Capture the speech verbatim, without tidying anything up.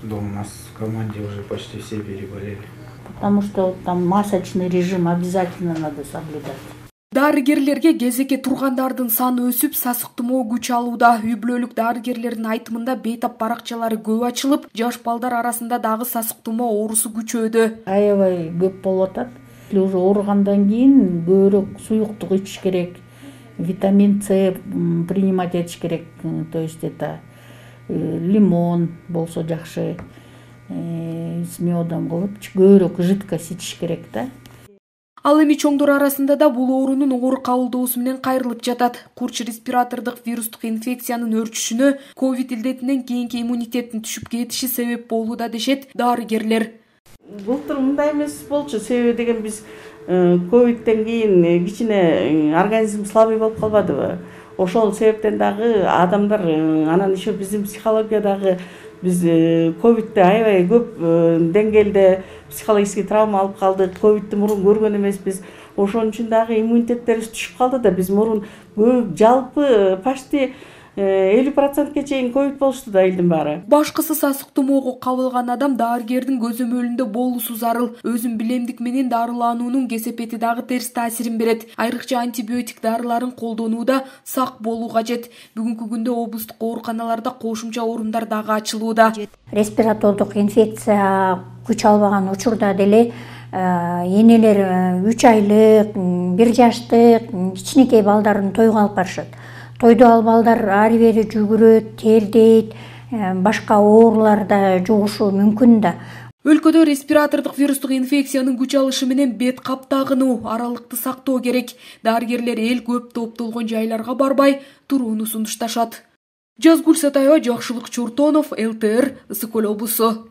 Дома у нас в команде уже почти все переболели. Потому что там масочный режим обязательно надо соблюдать. Дарыгерлерге кезекке тургандардын саны өсүп, сасык тумоо күч алууда. Үй бүлөлүк дарыгерлердин айтымында бейтап баракчалары көп ачылып, жаш балдар арасында дагы сасык тумоо оорусу күчөөдө. Аябай көп болуп атат. Уже ооругандан кийин көбүрөөк суюктук ичиш керек, витамин С принимать этиш керек. То есть это лимон болсо жакшы, с медом кылып көбүрөөк жидкость ичиш керек да. Ал эми чоңдор арасында да бул оорунун оор кабылдоосу менен кайрылып жатат. Курч респиратордук вирустук инфекциянын өрчүшүнө ковид илдетинен кийинки иммунитеттин түшүп кетиши себеп болууда дешет дарыгерлер. Былтыр мындай эмес болчу, себеби деген биз ковидтен кийин кичине организм слабый болуп калбадыбы? Ошол себептен дагы адамдар анан еще биздин психологиядагы биз ковидте аябай көп деңгээлде психологический травма алып калдык. Ковидти мурун көргөн эмеспиз. Ошон үчүн дагы иммунитеттерибиз түшүп калды да, биз мурун жалпы почти элүү процентке чейин ковид болушту да элдин баары. Башкысы сасык тумоого кабылган адам дарыгердин көзөмөлүндө болуусу зарыл. Өзүн билемдик менен дарылануунун кесепети дагы терс таасирин берет. Айрыкча антибиотик дарыларын колдонууда сак болуу кажет. Бүгүнкү күндө облустук ооруканаларда кошумча орундар дагы ачылууда. Респиратордук инфекция күч албаган учурда деле энелер үч айлык, бир жаштык кичинекей балдарын тойго алып барышат. Тойдо ал балдар ары бери жүгүрөт, тердейт, башка оорулар да жугушу мүмкүн да. Өлкөдө респиратордук вирустук инфекциянын күч алышы менен бет каптагынуу, аралыкты сактоо керек. Дарыгерлер эл көп топтолгон жайларга барбай турууну сунушташат. Жазгүл Сатаева, Жакшылык Чуртонов, эл тэ эр, Ысык Көл облусу.